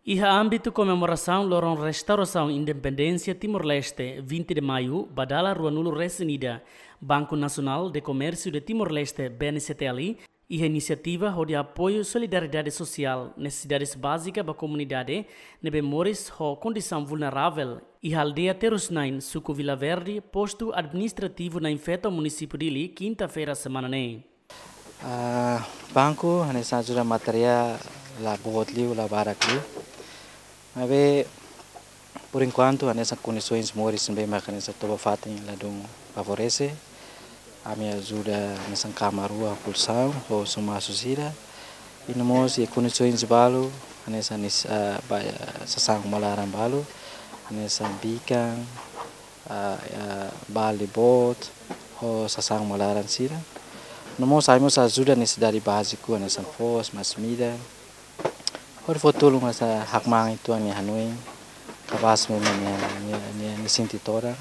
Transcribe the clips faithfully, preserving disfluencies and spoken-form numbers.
Iha ámbitu komemorasaun loron restaurasaun independénsia Timor-Leste, vinte de Maio, ba dala ruanulu-resin-ida, Banco Nacional de Comercio de Timor-Leste, B N C T L, iha inisiativa hodi apoiu solidariedade sosiál, nesesidades bázika ba komunidade ne'ebé moris ho kondisaun vulneravel, iha aldeia Terus Nain, suku Vila Verde, postu administrativu Nain Feto, munisípiu Dili, kinta-feira semana ne'e. Ah, banku hanesan ajuda materiál la boot liu, la barak liu. Maibé, por enkuantu, hanesan kondisoens moris ne'ebé mak hanesan toba fatin ladún favorese. Ami ajuda hanesan kama rua ho kolxaun, ho sumasu sira. I no mós iha kondisoens balu, hanesan nis, ah, ba, ah, sasán uma laran balu, hanesan bikan, ah, ah, balde boot, ho sasán uma laran sira. No mós ami mós ajuda nesesidade báziku, hanesan foos, masin-midar. Hodi fó tulun hanesan hakmaan uitoan nia hanoin, kapás mós nia, nia, nia, nia sente todan.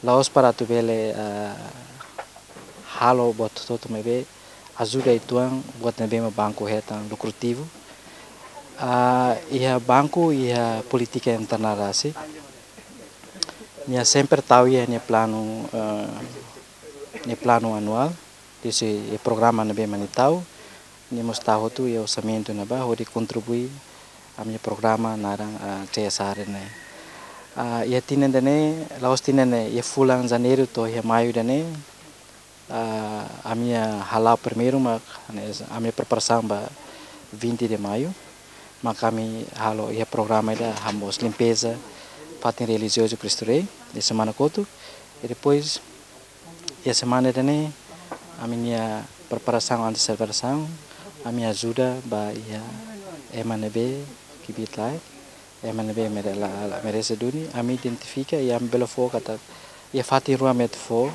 La'ós para atu bele, ah, halo buat hotu-hotu, maibé ajuda uitoan buat ne'ebé mak banku hetan lukrativu. Ah, iha banku, iha polítika internál rasik. Nia sempre tau iha nia planu, eh, nia planu anuál, desi iha programa ne'ebé mak nia tau, nia mós tau hotu iha orsamentu ne'ebá hodi kontribui ami-nia programa naran, ah, C S R ne'e. Ah, iha tinan ida-ne'e, la'ós tinan ne'e, iha fulan Janeiru to'o iha Maiu ida-ne'e, ah, ami-nia hala'o primeiru mak, hanesan, ami-nia preparasaun ba vinte de Maio, mak ami halo iha programa ida hamos limpeza fatin relijiozu Cristo Rei, iha semana kotuk, i depois, iha semana ida-ne'e, ami-nia preparasaun antes selebrasaun, ami ajuda ba iha ema ne'ebé kbiit-laek, ema ne'ebé mere-, la, la merese duni, ami identifika i ami bele fó katak iha fatin rua ami atu fó.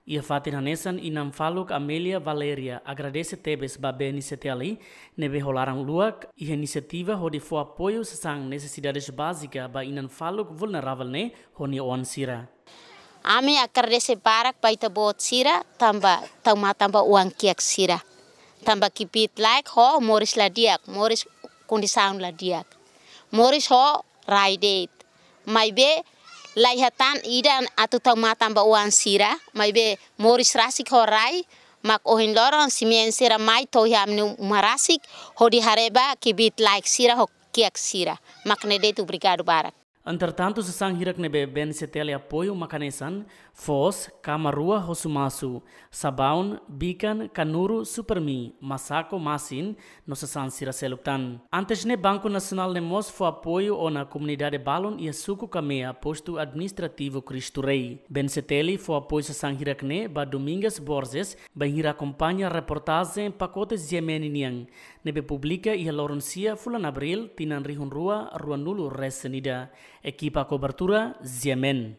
Iha fatin hanesan inan faluk Amelia Valeria agradese tebes ba B N C T L ne'ebé ho laran luak iha inisiativa hodi fó apoiu sasán nesesidades bázika ba inan faluk vulneravel ne'e ho nia oan sira. Ami agradese barak ba ita-boot sira tanba tau matan ba oan kiak sira. Tanba kbiit-laek ho moris la di'ak, moris kondisaun la di'ak. Moris ho rai de'it. Maibé la iha tan ida atu tau matan ba oan sira, maibé moris rasik ho rai, mak ohin loron simein sira mai to'o iha ami-nia uma rasik, hodi haree ba kbiit-laek sira ho kiak sira. Mak ne'e de'it, obrigadu barak. Entretantu, sasán hirak ne'ebé B N C T L apoiu mak hanesan, foos, kama rua ho sumasu, sabaun, bikan, kanuru, Supermi, masako, masin, no sasán sira seluk tan. Antes ne'e Banku Nasionál ne'e mós fó apoiu ona komunidade balun iha suku Kamea, postu administrativu Cristo Rei. B N C T L fó apoiu sasán hirak ne'e ba Domingas Borges, bainhira akompaña reportajen pakote G M N nian, ne'ebé publika iha loron sia fulan Abríl, tinan rihun rua ruanulu-resin-ida. Ekipa kobertura, G M N.